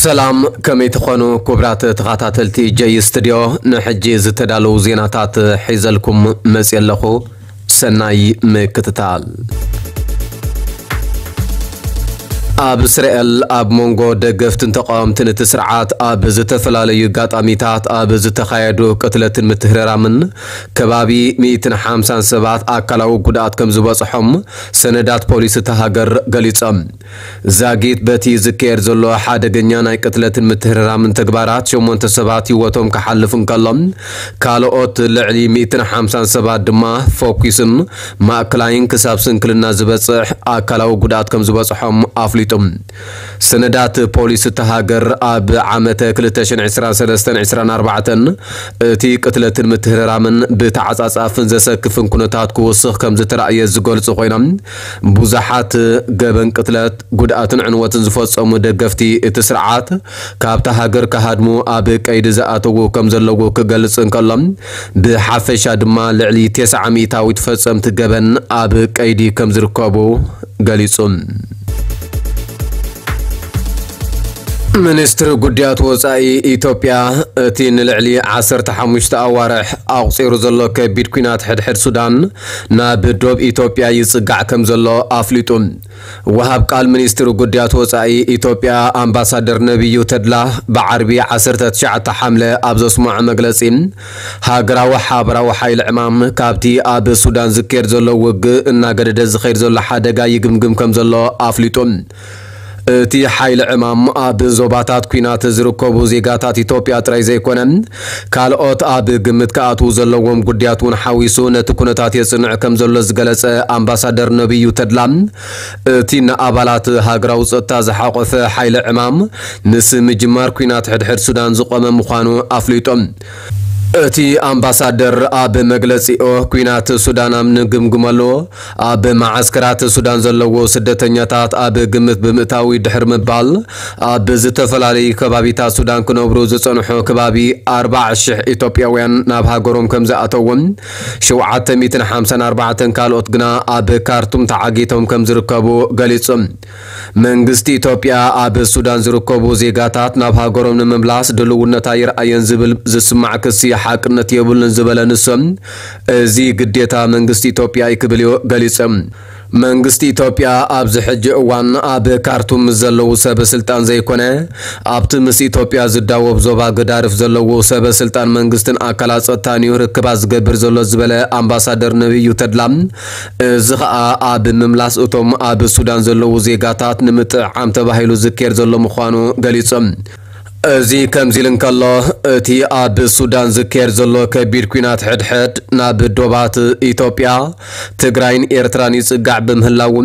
ሰላም፣ ከመይ ትኾኑ ክቡራት ተኸታተልቲ ጀይ ስቱድዮ? ንሕጂ ዝተዳለዉ ዜናታት ሒዘልኩም መፅየ ኣለኹ። ሰናይ ምክትታል። ኣብ እስራኤል ኣብ መንጎ ደገፍትን ተቃወምትን እቲ ስርዓት ኣብ ዝተፈላለዩ ኣጋጣሚታት ኣብ ዝተኻየዱ ቅትለትን ምትህርራምን ከባቢ ሚእትን ሓምሳን ሰባት ኣካላዊ ጉድኣት ከም ዝበፅሖም ሰነዳት ፖሊስ እታ ሃገር ገሊጾም። ዛጊት በቲ ዝካየድ ዘሎ ሓደገኛ ናይ ቅትለትን ምትህርራምን ተግባራት ሸሞንተ ሰባት ህይወቶም ክሓልፍ እንከሎ፣ ካልኦት ልዕሊ ሚእትን ሓምሳን ሰባት ድማ ፈኲስን ማእከላይን ክሳብ ስንክልና ዝበጽሕ ኣካላዊ ጉድኣት ከም ዝበጽሖም ኣፍሊጡ። ሰነዳት ፖሊስ እታ ሃገር ኣብ ዓመተ ክልተ ሽሕን ዕስራን ሰለስተን ዕስራን ኣርባዕተን እቲ ቅትለትን ምትህርራምን ብተዓጻጻፍን ዘሰክፍን ኩነታት ክውስኽ ከም ዝተራእየ ዝገልጹ ኮይኖም፣ ብዙሓት ገበን ቅትለት፣ ጉድኣትን ዕንወትን ዝፈጸሙ ደገፍቲ እቲ ስርዓት ካብታ ሃገር ክሃድሙ ኣብ ቀይዲ ዝኣተዉ ከም ዘለዉ ክገልጽ እንከሎ፣ ብሓፈሻ ድማ ልዕሊ ተስዓ ሚእታዊት ፈጸምቲ ገበን ኣብ ቀይዲ ከም ዝርከቡ ገሊጹ። ሚኒስትሪ ጉዳያት ወጻኢ ኢትዮጵያ እቲ ንልዕሊ ዓሰርተ ሓሙሽተ ኣዋርሕ ኣቑጺሩ ዘሎ ከቢድ ኲናት ሕድሕድ ሱዳን ናብ ዶብ ኢትዮጵያ ይጽጋዕ ከም ዘሎ ኣፍሊጡ። ወሃብ ቃል ሚኒስትሪ ጉዳያት ወጻኢ ኢትዮጵያ ኣምባሳደር ነቢዩ ተድላ ብዓርቢ ዓሰርተ ትሽዓተ ሓምለ ኣብ ዘስምዖ መግለጺ፣ ሃገራዊ ሓበራዊ ሓይሊ ዕማም ካብቲ ኣብ ሱዳን ዝካየድ ዘሎ ውግእ እናገደደ ዝኸይድ ዘሎ ሓደጋ ይግምግም ከም ዘሎ ኣፍሊጡ። እቲ ሓይሊ ዕማም ኣብ ዞባታት ኲናት ዝርከቡ ዜጋታት ኢትዮጵያ ጥራይ ዘይኮነ፣ ካልኦት ኣብ ግምት ክኣትዉ ዘለዎም ጉዳያት እውን ሓዊሱ ነቲ ኩነታት የጽንዕ ከም ዘሎ ዝገለጸ ኣምባሳደር ነቢዩ ተድላ፣ እቲ ንኣባላት ሃገራዊ ጸጥታ ዝሓቖፈ ሓይሊ ዕማም ምስ ምጅማር ኲናት ሕድሕድ ሱዳን ዝቖመ ምዃኑ ኣፍሊጡ። እቲ ኣምባሳደር ኣብ መግለጺኡ፣ ኲናት ሱዳን ኣብ ንግምግመሉ፣ ኣብ መዓስከራት ሱዳን ዘለዉ ስደተኛታት ኣብ ግምት ብምእታዊ ድሕሪ ምባል፣ ኣብ ዝተፈላለዩ ከባቢታት ሱዳን ክነብሩ ዝጸንሑ ከባቢ ኣርባዓ ሽሕ ኢትዮጵያውያን ናብ ሃገሮም ከም ዝኣተዉን፣ ሸውዓተ ሚእትን ሓምሳን ኣርባዕተን ካልኦት ግና ኣብ ካርቱም ተዓጊቶም ከም ዝርከቡ ገሊጹ። መንግስቲ ኢትዮጵያ ኣብ ሱዳን ዝርከቡ ዜጋታት ናብ ሃገሮም ንምምላስ ድልውነት ኣይረኣየን ዝብል ዝስማዕ ክሲ ሓቅነት የብሉን ዝበለ ንሱ፣ እዚ ግዴታ መንግስቲ ኢትዮጵያ እዩ ክብል እዩ ገሊጹ። መንግስቲ ኢትዮጵያ ኣብዚ ሕጂ እዋን ኣብ ካርቱም ምስ ዘለዉ ሰበ ስልጣን ዘይኮነ፣ ኣብቲ ምስ ኢትዮጵያ ዝዳወብ ዞባ ገዳርፍ ዘለዉ ሰበ ስልጣን መንግስትን ኣካላት ጸጥታን እዩ ርክባት ዝገብር ዘሎ ዝበለ ኣምባሳደር ነቢዩ ተድላ፣ እዚ ኸኣ ኣብ ምምላስ እቶም ኣብ ሱዳን ዘለዉ ዜጋታት ንምጥዕዓም ተባሂሉ ዝካየድ ዘሎ ምዃኑ ገሊጹ። እዚ ከምዚ ኢሉ እንከሎ፣ እቲ ኣብ ሱዳን ዝካየድ ዘሎ ከቢድ ኲናት ሕድሕድ ናብ ዶባት ኢትዮጵያ፣ ትግራይን ኤርትራን ይጽጋዕ ብምህላው፣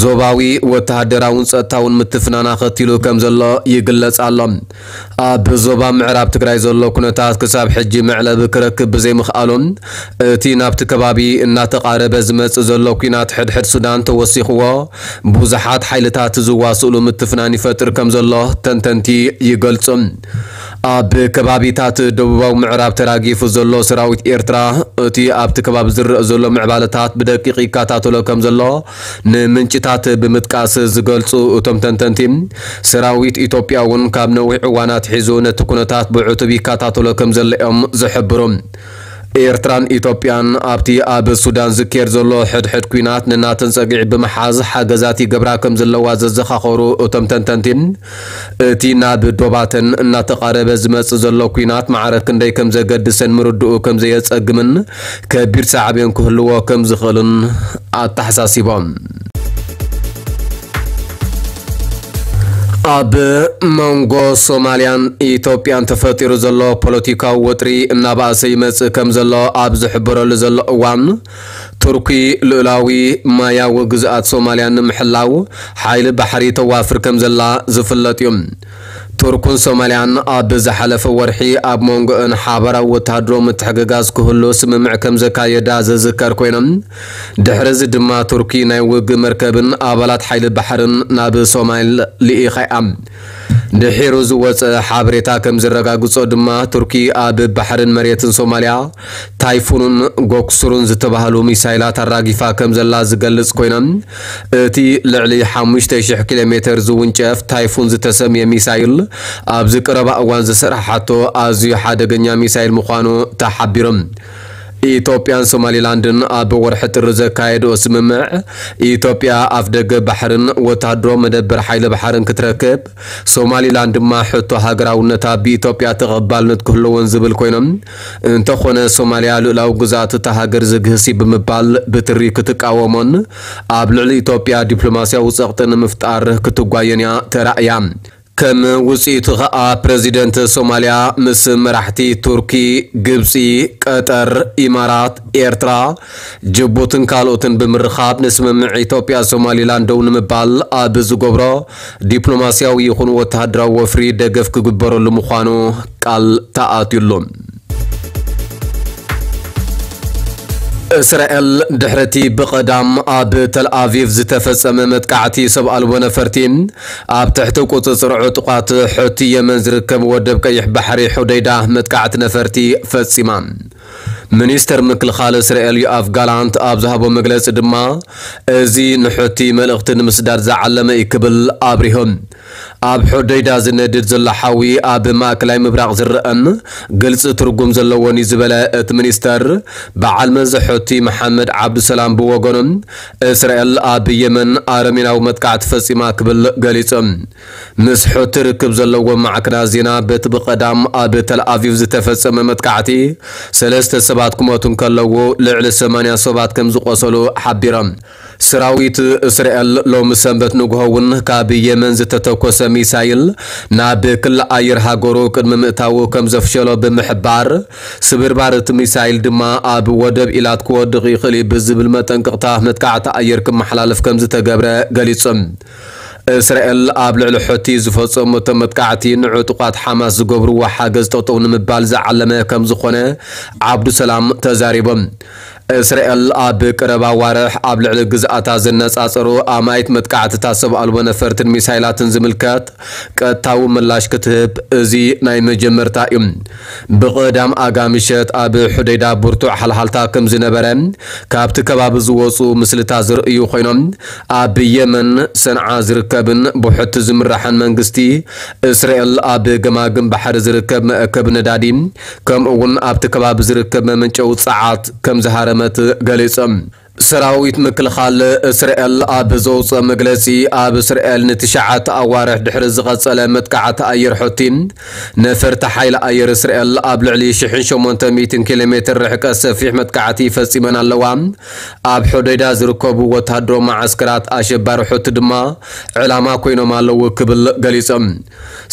ዞባዊ ወተሃደራውን ጸጥታውን ምትፍናን ኣኸቲሉ ከም ዘሎ ይግለጽ ኣሎ። ኣብ ዞባ ምዕራብ ትግራይ ዘሎ ኩነታት ክሳብ ሕጂ መዕለቢ ክረክብ ብዘይምኽኣሉ፣ እቲ ናብቲ ከባቢ እናተቓረበ ዝመጽእ ዘሎ ኲናት ሕድሕድ ሱዳን ተወሲኽዎ፣ ብዙሓት ሓይልታት ዝዋስእሉ ምትፍናን ይፈጥር ከም ዘሎ ተንተንቲ ይገልጹ። ኣብ ከባቢታት ደቡባዊ ምዕራብ ተራጊፉ ዘሎ ሰራዊት ኤርትራ፣ እቲ ኣብቲ ከባቢ ዝረአ ዘሎ ምዕባለታት ብደቂቕ ይከታተሎ ከም ዘሎ ንምንጭታት ብምጥቃስ ዝገልጹ እቶም ተንተንቲ፣ ሰራዊት ኢትዮጵያ እውን ካብ ነዊሕ እዋን ኣትሒዙ ነቲ ኩነታት ብዕቱብ ይከታተሎ ከም ዘሎ እዮም ዝሕብሩ። ኤርትራን ኢትዮጵያን ኣብቲ ኣብ ሱዳን ዝካየድ ዘሎ ሕድሕድ ኲናት ንናተን ጸግዒ ብምሓዝ ሓገዛት ይገብራ ከም ዘለዋ ዘዘኻኸሩ እቶም ተንተንቲ፣ እቲ ናብ ዶባተን እናተቓረበ ዝመጽእ ዘሎ ኲናት ማዕረ ክንደይ ከም ዘገድሰን ምርድኡ ከም ዘየጸግምን ከቢድ ሳዕቤን ክህልዎ ከም ዝኽእልን ኣተሓሳሲቦም። ኣብ መንጎ ሶማልያን ኢትዮጵያን ተፈጢሩ ዘሎ ፖለቲካዊ ወጥሪ እናበኣሰ ይመጽእ ከም ዘሎ ኣብ ዝሕበረሉ ዘሎ እዋን፣ ቱርኪ ልኡላዊ ማያዊ ግዝኣት ሶማልያ ንምሕላው ሓይሊ ባሕሪ ተዋፍር ከም ዘላ ዝፍለጥ እዩ። ቱርክን ሶማልያን ኣብ ዝሓለፈ ወርሒ ኣብ መንጎአን ሓበራዊ ወተሃደራዊ ምትሕግጋዝ ክህሉ ስምምዕ ከም ዘካየዳ ዝዝከር ኮይኖም፣ ድሕሪ እዚ ድማ ቱርኪ ናይ ውግእ መርከብን ኣባላት ሓይሊ ባሕርን ናብ ሶማል ልኢኻ እያ። ድሒሩ ዝወጸ ሓበሬታ ከም ዘረጋግጾ ድማ፣ ቱርኪ ኣብ ባሕርን መሬትን ሶማልያ ታይፉንን ጎክሱሩን ዝተባህሉ ሚሳይላት ኣራጊፋ ከም ዘላ ዝገልጽ ኮይና፣ እቲ ልዕሊ ሓሙሽተ ሽሕ ኪሎ ሜተር ዝውንጨፍ ታይፉን ዝተሰምየ ሚሳይል ኣብዚ ቀረባ እዋን ዝሰራሓቶ ኣዝዩ ሓደገኛ ሚሳይል ምዃኑ ተሓቢሩ። ኢትዮጵያን ሶማሊላንድን ኣብ ወርሒ ጥሪ ዘካየድኦ ስምምዕ፣ ኢትዮጵያ ኣፍደገ ባሕርን ወታደሮ መደበር ሓይሊ ባሕርን ክትረክብ፣ ሶማሊላንድ ድማ ሕቶ ሃገራውነታ ብኢትዮጵያ ተቐባልነት ክህልዎን ዝብል ኮይኖም፣ እንተኾነ ሶማልያ ልኡላዊ ግዝኣት እታ ሃገር ዝግህስ እዩ ብምባል ብትሪ ክትቃወሞን ኣብ ልዕሊ ኢትዮጵያ ዲፕሎማስያዊ ጸቕጢ ንምፍጣር ክትጓየን እያ ተራእያ። ከም ውጽኢቱ ኸኣ ፕረዚደንት ሶማልያ ምስ መራሕቲ ቱርኪ፣ ግብጺ፣ ቀጠር፣ ኢማራት፣ ኤርትራ፣ ጅቡትን ካልኦትን ብምርኻብ ንስምምዕ ኢትዮጵያ ሶማሊላንድ ደው ንምባል ኣብ ዝገብሮ ዲፕሎማስያዊ ይኹን ወተሃደራዊ ወፍሪ ደገፍ ክግበረሉ ምዃኑ ቃል ተኣትዩሉ። እስራኤል ድሕርቲ ብቐዳም ኣብ ተል ኣቪቭ ዝተፈጸመ መጥቃዕቲ ሰብ ኣልቦ ነፈርቲ፣ ኣብ ትሕቲ ቁጽጽር ዕጡቓት ሑቲ የመን ዝርከብ ወደብ ቀይሕ ባሕሪ ሑደይዳ መጥቃዕቲ ነፈርቲ ፈጺማ። ሚኒስተር ምክልኻል እስራኤል ዮኣፍ ጋላንት ኣብ ዝሃቦ መግለጺ ድማ፣ እዚ ንሑቲ መልእኽቲ ንምስዳድ ዝዓለመ እዩ ክብል ኣብሪሁ። ኣብ ሑደይዳ ዝነድድ ዘሎ ሓዊ ኣብ ማእከላይ ምብራቕ ዝረኣን ግልጺ ትርጉም ዘለዎን እዩ ዝበለ እቲ ሚኒስተር፣ በዓል መዚ ሑቲ መሓመድ ዓብዱሰላም ብወገኑ፣ እስራኤል ኣብ የመን ኣረሜናዊ መጥቃዕቲ ፈጺማ ክብል ገሊጹ። ምስ ሑቲ ርክብ ዘለዎም ማዕከናት ዜና፣ በቲ ብቐዳም ኣብ ተል ኣቪቭ ዝተፈጸመ መጥቃዕቲ ሰለስተ ሰባት ክሞቱ እንከለዉ፣ ልዕሊ ሰማንያ ሰባት ከም ዝቖሰሉ ሓቢሮም። ሰራዊት እስራኤል ሎሚ ሰንበት ንግሆ እውን ካብ የመን ዝተተኮሰ ሚሳይል ናብ ክሊ ኣየር ሃገሩ ቅድሚ ምእታዉ ከም ዘፍሸሎ ብምሕባር፣ ስብርባር እቲ ሚሳይል ድማ ኣብ ወደብ ኢላት ክወድቕ ይኽእል እዩ ብዝብል መጠንቀቕታ መጥቃዕቲ ኣየር ክመሓላለፍ ከም ዝተገብረ ገሊጹ። እስራኤል ኣብ ልዕሊ ሑቲ ዝፈጸመቶ መጥቃዕቲ ንዕጡቓት ሓማስ ዝገብርዎ ሓገዝ ጠጠው ንምባል ዝዓለመ ከም ዝኾነ ዓብዱሰላም ተዛሪቦም። እስራኤል ኣብ ቀረባ ኣዋርሕ ኣብ ልዕሊ ግዝኣታ ዘነጻጸሩ ኣማኢት መጥቃዕትታት ሰብ ኣልቦ ነፈርትን ሚሳይላትን ዝምልከት ቀጥታዊ ምላሽ ክትህብ እዚ ናይ መጀመርታ እዩ። ብቐዳም ኣጋ ምሸት ኣብ ሑደይዳ ብርቱዕ ሓልሃልታ ከም ዝነበረ ካብቲ ከባቢ ዝወጹ ምስልታት ዝርእዩ ኮይኖም፣ ኣብ የመን ሰንዓ ዝርከብን ብሑቲ ዝምራሕን መንግስቲ እስራኤል ኣብ ገማግም ባሕሪ ዝርከብ መእከቢ ነዳዲ፣ ከምኡ እውን ኣብቲ ከባቢ ዝርከብ መመንጨዊ ጸዓት ከም ዝሃረመት ገሊጾም። ሰራዊት ምክልኻል እስራኤል ኣብ ዘውፅኦ መግለፂ፣ ኣብ እስራኤል ንትሽዓተ ኣዋርሕ ድሕሪ ዝቐጸለ መጥቃዕቲ ኣየር ሑቲ፣ ነፈርቲ ሓይሊ ኣየር እስራኤል ኣብ ልዕሊ ሽሕን ሸሞንተ ሚእትን ኪሎ ሜትር ርሕቀት ሰፊሕ መጥቃዕቲ ፈጺመን ኣለዋ። ኣብ ሑደይዳ ዝርከቡ ወተሃደራዊ መዓስከራት ኣሸባሪ ሑቲ ድማ ዕላማ ኮይኖም ኣለዉ ክብል ገሊጾም።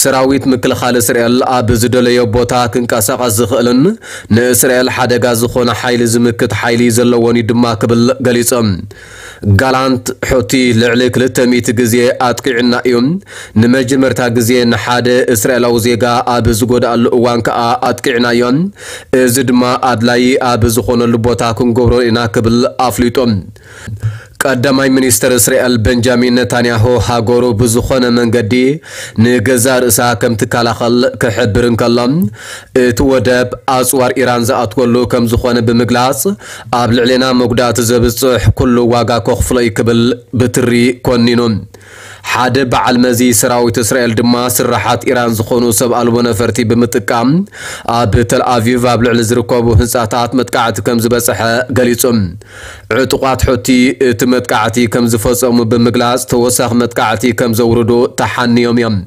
ሰራዊት ምክልኻል እስራኤል ኣብ ዝደለዮ ቦታ ክንቀሳቐስ ዝኽእልን ንእስራኤል ሓደጋ ዝኾነ ሓይሊ ዝምክት ሓይሊ ዘለዎን እዩ ድማ ክብል ገሊጾም። ጋላንት፣ ሑቲ ልዕሊ ክልተ ሚእቲ ግዜ ኣጥቂዑና እዩ። ንመጀመርታ ግዜ ንሓደ እስራኤላዊ ዜጋ ኣብ ዝጎድኣሉ እዋን ከኣ ኣጥቂዕናዮ። እዚ ድማ ኣድላዪ ኣብ ዝኾነሉ ቦታ ክንገብሮ ኢና ክብል ኣፍሊጡ። ቀዳማይ ሚኒስተር እስራኤል በንጃሚን ነታንያሁ ሃገሩ ብዝኾነ መንገዲ ንገዛእ ርእሳ ከም ትከላኸል ክሕብር እንከሎ፣ እቲ ወደብ ኣጽዋር ኢራን ዝኣትወሉ ከም ዝኾነ ብምግላጽ፣ ኣብ ልዕሌና መጉዳእቲ ዘብጽሕ ኩሉ ዋጋ ከኽፍሎ እዩ ክብል ብትሪ ኮኒኑ። ሓደ በዓል መዚ ሰራዊት እስራኤል ድማ ስራሓት ኢራን ዝኾኑ ሰብ ኣልቦ ነፈርቲ ብምጥቃም ኣብ ተል ኣቪቭ ኣብ ልዕሊ ዝርከቡ ህንጻታት መጥቃዕቲ ከም ዝበጽሐ ገሊጹ። ዕጡቓት ሑቲ እቲ መጥቃዕቲ ከም ዝፈጸሙ ብምግላጽ፣ ተወሳኺ መጥቃዕቲ ከም ዘውርዱ ተሓንዮም እዮም።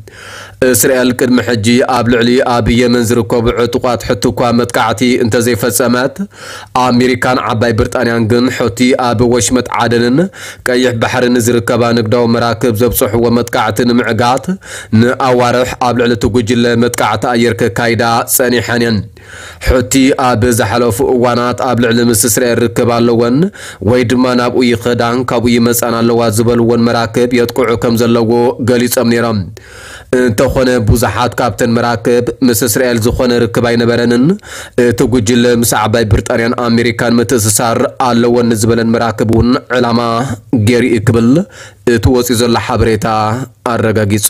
እስራኤል ቅድሚ ሕጂ ኣብ ልዕሊ ኣብ የመን ዝርከቡ ዕጡቓት ሑቲ እኳ መጥቃዕቲ እንተዘይፈጸመት፣ ኣሜሪካን ዓባይ ብሪጣንያን ግን ሑቲ ኣብ ወሽመጥ ዓደንን ቀይሕ ባሕርን ዝርከባ ንግዳዊ መራክብ ዘብጽሕዎ መጥቃዕቲ ንምዕጋት ንኣዋርሕ ኣብ ልዕሊ እቲ ጉጅለ መጥቃዕቲ ኣየር ከካይዳ ጸኒሐን እየን። ሑቲ ኣብ ዝሓለፉ እዋናት ኣብ ልዕሊ ምስ እስራኤል ርክብ ኣለወን ወይ ድማ ናብኡ ይኸዳን ካብኡ ይመጻን ኣለዋ ዝበልወን መራክብ የጥቅዑ ከም ዘለዎ ገሊጾም ነይሮም። እንተኾነ ብዙሓት ካብተን መራክብ ምስ እስራኤል ዝኾነ ርክብ ኣይነበረንን። እቲ ጉጅለ ምስ ዓባይ ብሪጣንያን ኣሜሪካን ምትእስሳር ኣለወን ዝበለን መራክብ እውን ዕላማ ገይሩ እዩ ክብል እቲ ወፂኡ ዘሎ ሓበሬታ ኣረጋጊጹ።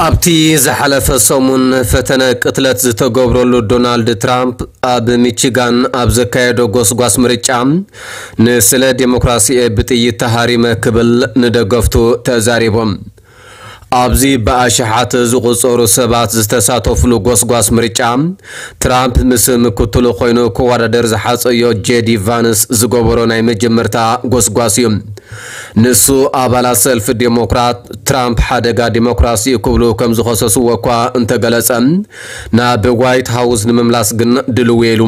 ኣብቲ ዝሓለፈ ሰሙን ፈተነ ቅትለት ዝተገብረሉ ዶናልድ ትራምፕ ኣብ ሚቺጋን ኣብ ዘካየዶ ጎስጓስ ምርጫ ንስለ ዴሞክራሲኤ ብጥይት ተሃሪመ ክብል ንደገፍቱ ተዛሪቦም። ኣብዚ ብኣሽሓት ዝቑጸሩ ሰባት ዝተሳተፉሉ ጎስጓስ ምርጫ ትራምፕ ምስ ምክትሉ ኮይኑ ክወዳደር ዝሓጸዮ ጄዲ ቫንስ ዝገበሮ ናይ መጀመርታ ጎስጓስ እዩ። ንሱ ኣባላት ሰልፊ ዴሞክራት ትራምፕ ሓደጋ ዴሞክራሲ እዩ ክብሉ ከም ዝኸሰስዎ እኳ እንተገለጸ፣ ናብ ዋይት ሃውስ ንምምላስ ግን ድልው ኢሉ።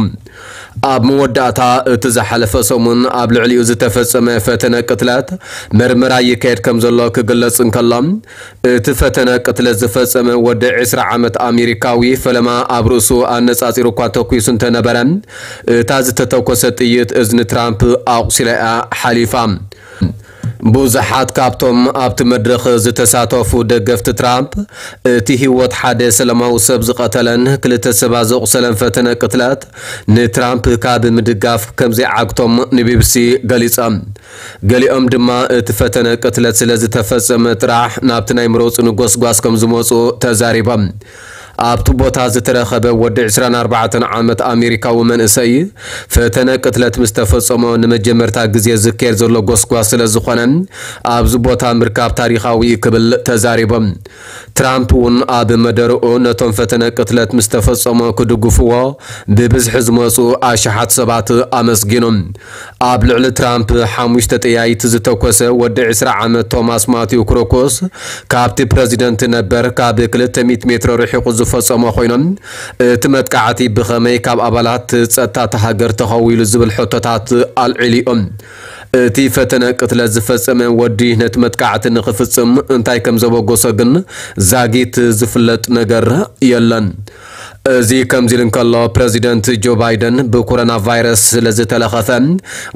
ኣብ መወዳእታ እቲ ዝሓለፈ ሰሙን ኣብ ልዕሊኡ ዝተፈጸመ ፈተነ ቅትለት ምርመራ ይካየድ ከም ዘሎ ክግለጽ እንከሎ፣ እቲ ፈተነ ቅትለት ዝፈጸመ ወዲ ዕስራ ዓመት ኣሜሪካዊ ፈለማ ኣብ ርእሱ ኣነጻጺሩ እኳ ተኩሱ እንተነበረ፣ እታ ዝተተኮሰ ጥይት እዝኒ ትራምፕ ኣቑሲላ እያ ሓሊፋ። ብዙሓት ካብቶም ኣብቲ መድረኽ ዝተሳተፉ ደገፍቲ ትራምፕ፣ እቲ ህይወት ሓደ ሰላማዊ ሰብ ዝቐተለን ክልተ ሰባት ዘቑሰለን ፈተነ ቅትለት ንትራምፕ ካብ ምድጋፍ ከም ዘይዓግቶም ንቢቢሲ ገሊጾም። ገሊኦም ድማ እቲ ፈተነ ቅትለት ስለ ዝተፈጸመ ጥራሕ ናብቲ ናይ ምረጹኒ ጎስጓስ ከም ዝመጹ ተዛሪቦም። ኣብቲ ቦታ ዝተረኸበ ወዲ ዕስራን ኣርባዕተን ዓመት ኣሜሪካዊ መንእሰይ፣ ፈተነ ቅትለት ምስ ተፈጸሞ ንመጀመርታ ግዜ ዝካየድ ዘሎ ጎስጓስ ስለ ዝኾነ፣ ኣብዚ ቦታ ምርካብ ታሪኻዊ እዩ ክብል ተዛሪቦም። ትራምፕ እውን ኣብ መደርኡ ነቶም ፈተነ ቅትለት ምስ ተፈጸሞ ክድግፍዎ ብብዝሒ ዝመጹ ኣሽሓት ሰባት ኣመስጊኑ። ኣብ ልዕሊ ትራምፕ ሓሙሽተ ጠያይቲ ዝተኮሰ ወዲ ዕስራ ዓመት ቶማስ ማቲው ክሩክስ፣ ካብቲ ፕረዚደንት ነበር ካብ ክልተ ሚእቲ ሜትሮ ርሒቑ ዝፈጸሞ ኮይኖም፣ እቲ መጥቃዕቲ ብኸመይ ካብ ኣባላት ጸጥታ እታ ሃገር ተኸዊሉ ዝብል ሕቶታት ኣልዒሉ እዩ። እቲ ፈተነ ቅትለት ዝፈጸመ ወዲ ነቲ መጥቃዕቲ ንኽፍጽም እንታይ ከም ዘበገሶ ግን ዛጊት ዝፍለጥ ነገር የለን። እዚ ከምዚ ኢሉ እንከሎ፣ ፕረዚደንት ጆ ባይደን ብኮሮና ቫይረስ ስለ ዝተለኸፈ፣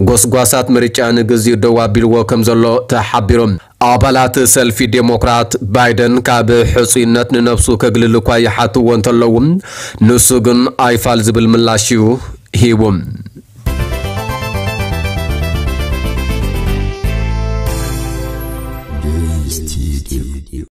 ጎስጓሳት ምርጫ ንግዚኡ ደው ኣቢልዎ ከም ዘሎ ተሓቢሩ። ኣባላት ሰልፊ ዴሞክራት፣ ባይደን ካብ ሕጹይነት ንነብሱ ከግልል እኳ ይሓትዎ እንተለዉ፣ ንሱ ግን ኣይፋል ዝብል ምላሽ እዩ ሂቡ።